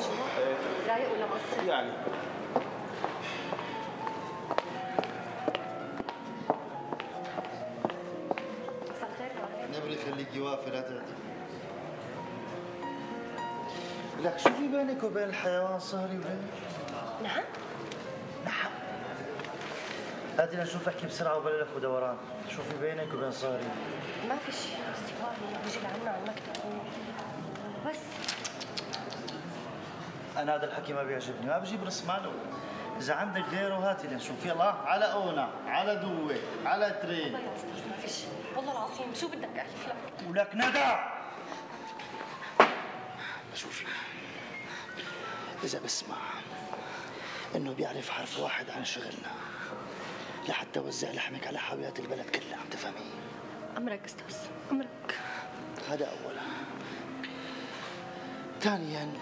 جوا؟ رايق ولا مقصر؟ يعني مساء الخير كمان. نبري خليكي واقفة لا تعتذري. لك شو في بينك وبين الحيوان صهري وبين؟ نعم؟ نعم. هاتي لنشوف احكي بسرعة وبلا لف ودوران، شو في بينك وبين صهري؟ ما في شيء، استواء بيجي لعنا على المكتب بس. أنا هذا الحكي ما بيعجبني، ما بجيب راس ماله. إذا عندك غيره هاتي لنشوف، يلا على أونا، على دوة، على ترين. والله يا أستاذ ما في شيء، والله العظيم شو بدك أحلف لك؟ ولك ندى! شوفي، إذا بسمع إنه بيعرف حرف واحد عن شغلنا لحتى وزع لحمك على حاويات البلد كلها، عم تفهمي؟ أمرك أستاذ، أمرك. هذا أولا. ثانيا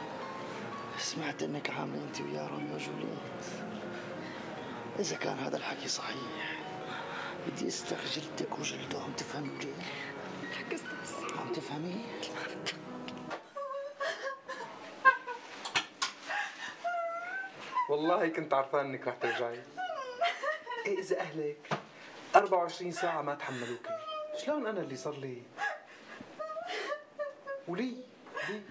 سمعت إنك عاملة أنت ويا روميو وجولييت. إذا كان هذا الحكي صحيح بدي استخجلتك وجلده، عم تفهمي ليه؟ لك أستاذ. عم تفهمي؟ والله كنت عرفان انك رح ترجعي. ايه اذا اهلك 24 ساعة ما تحملوكي، شلون انا اللي صار لي؟ ولي؟ لي؟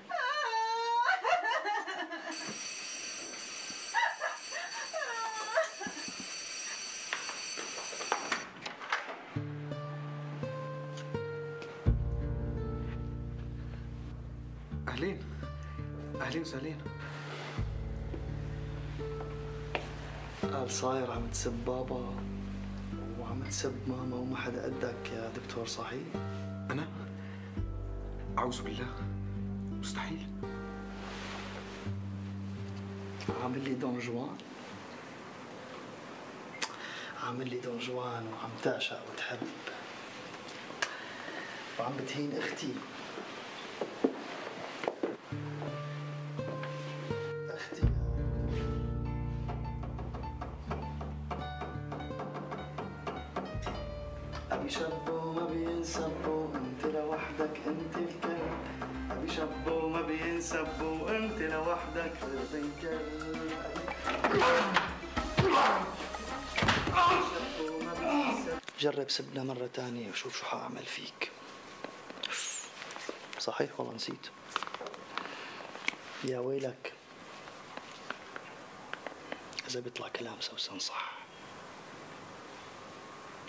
اهلين اهلين وسهلين. قال صاير عم تسب بابا وعم تسب ماما وما حدا قدك يا دكتور، صحيح؟ أنا؟ أعوذ بالله، مستحيل. عامل لي دون جوان، عامل لي دون جوان وعم تعشق وتحب وعم بتهين اختي. اختي ابي شبو ما بينسبو، انت لوحدك انت الكلب. ابي شبو ما بينسبو، انت لوحدك غير الكلب. جرب سبنا مرة تانية وشوف شو حاعمل فيك. صحيح والله نسيت. يا ويلك إذا بيطلع كلام سوسن صح.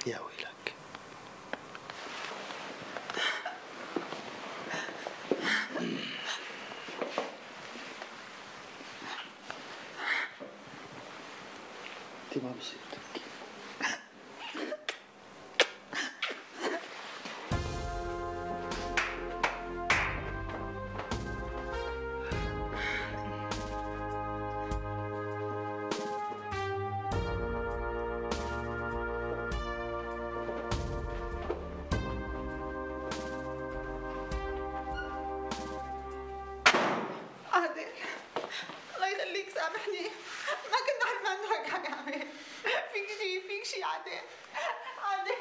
يا ويلك. انت ما بصير تبكي. عادل الله يخليك سامحني، ما كنت عارفه انه هيك حيعمل. فيك شي عادل. عادل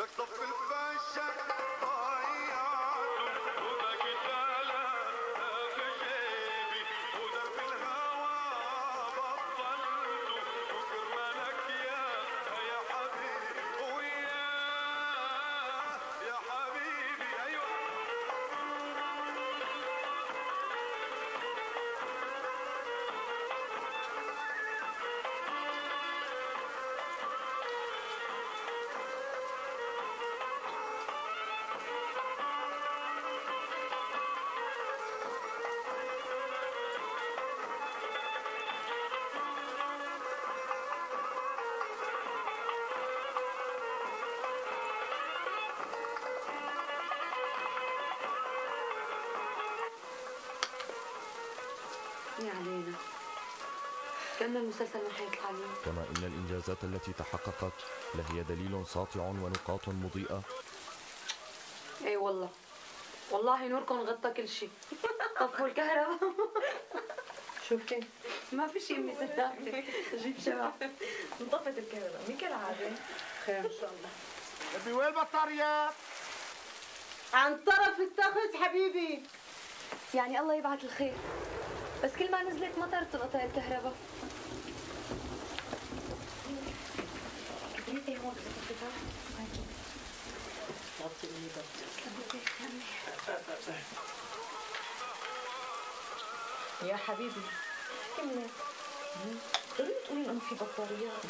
لك صف الفاشا ضيعته وبقيت في جيبي ودرب الهوى بطلته وكرمالك يا حبيبي وياه يا حبيبي. ايوه يا علينا، كأن المسلسل ما حيطلع اليوم. كما إن الإنجازات التي تحققت لهي دليل ساطع ونقاط مضيئة. اي والله، والله نوركم غطى كل شيء. طفوا الكهرباء. شوفي ما في شيء امي صدقتي. جيب شمع. انطفت الكهرباء مين كالعادة. خير ان شاء الله. ابي وين البطاريات؟ عن طرف التخت حبيبي. يعني الله يبعث الخير، بس كل ما نزلت مطر تنقطع الكهرباء. كبريتي هون يا حبيبي كملي. ضروري تقولي انه في بطاريات.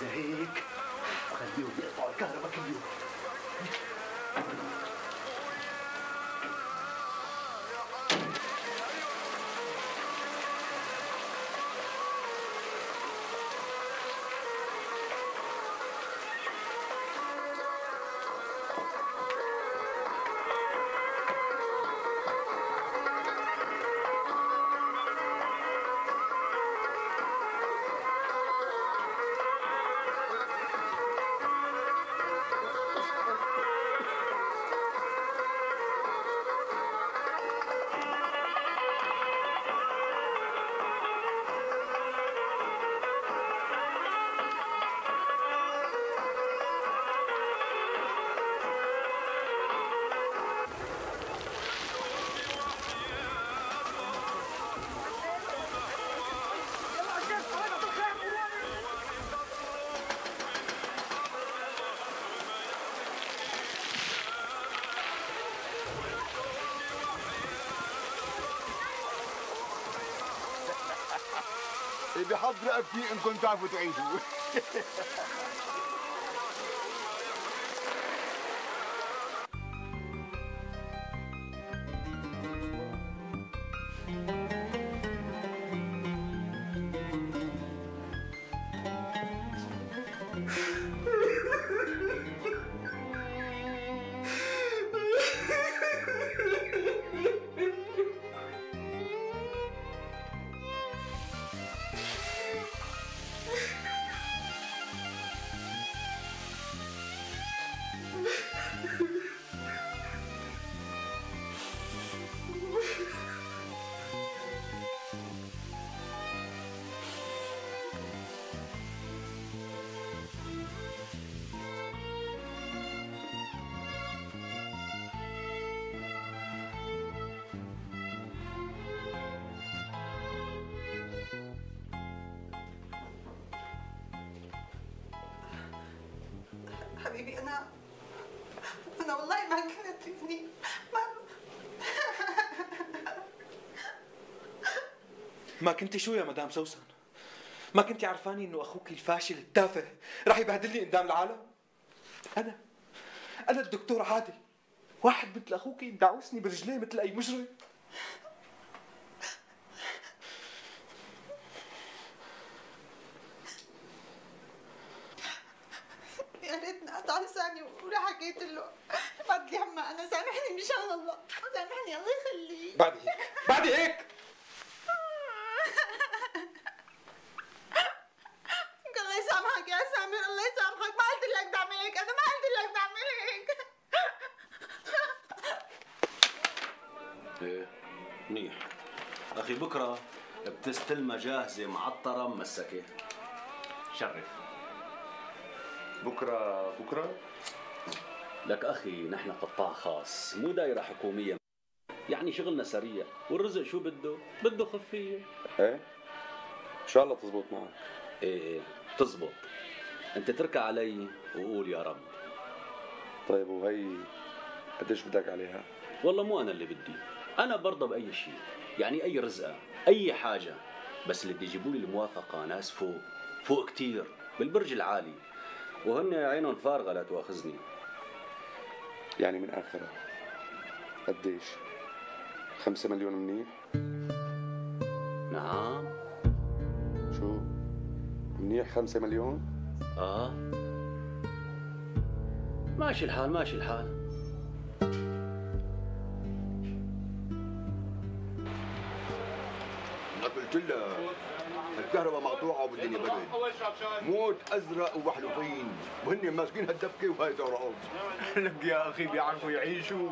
إذا هيك خليهم يقطعوا الكهرباء كل يوم. بحض رقبتي انكم تعرفوا تعيشوا. حبيبي أنا والله ما كنت يعني ما كنتي شو يا مدام سوسن؟ ما كنتي عرفاني انه اخوك الفاشل التافه رح يبهدلني قدام العالم؟ انا الدكتور عادل، واحد مثل اخوك يدعوسني برجليه مثل اي مجرم. يا ريتني قطع لساني ولا حكيت له. فضلي عما انا سامحني مشان الله، سامحني الله يخليك. بعد هيك الله يسامحك يا سامر، الله يسامحك. ما قلت لك تعمل هيك، انا ما قلت لك تعمل هيك. ايه منيح اخي، بكره بتستلمها جاهزه معطره ممسكه. شرف. بكره لك أخي نحن قطاع خاص مو دايرة حكومية، يعني شغلنا سريع والرزق شو بده خفية. ايه ان شاء الله تزبط معك. ايه تزبط، انت تركع علي وقول يا رب. طيب وهي قديش بدك عليها؟ والله مو أنا اللي بدي، أنا برضى بأي شيء، يعني أي رزقة أي حاجة، بس اللي بده يجيبوا لي الموافقة ناس فوق كتير بالبرج العالي، وهن عينهم فارغة لا تواخذني. يعني من آخرها قديش؟ 5 مليون منيح؟ نعم. شو؟ منيح 5 مليون؟ ماشي الحال. قلت لها الكهرباء مقطوعه والدنيا برد، موت ازرق وبحلوطين وهن ماسكين هالدفكه وهاي ترقص. لك يا اخي بيعرفوا يعيشوا.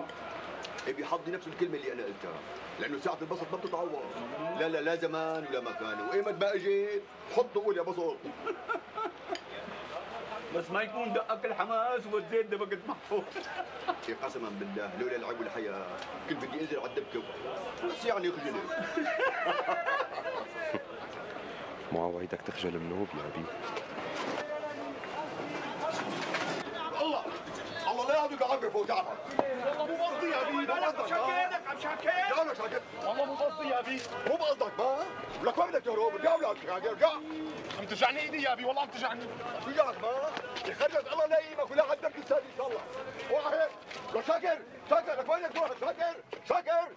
بيحضي نفس الكلمه اللي انا قلتها، لانه ساعه البسط ما بتتعوض. لا زمان ولا مكان، وايمت ما اجيت حط قول يا بسط. بس ما يكون دقك الحماس والزيت دبقت محفوظ. قسما بالله لولا العب والحياه كنت بدي انزل على الدبكه بس يعني خجلت. مو عوايدك تخجل منوب يا ابي. الله لا يعطيك العافيه فوق تعبك. والله مو قصدي يا ابي. مالك مشكلك عم شاكر؟ لا انا شاكر. والله مو قصدي يا ابي. مو بقصدك ما؟ ولك وين بدك تهرب؟ ارجع ولك شاكر ارجع. عم ترجعني ايدي يا ابي والله عم ترجعني. شو جاك ما؟ يخرجك الله لا يقيمك ولا عندك لسان ان شاء الله. واحد لك شاكر لك وين بدك تروح شاكر؟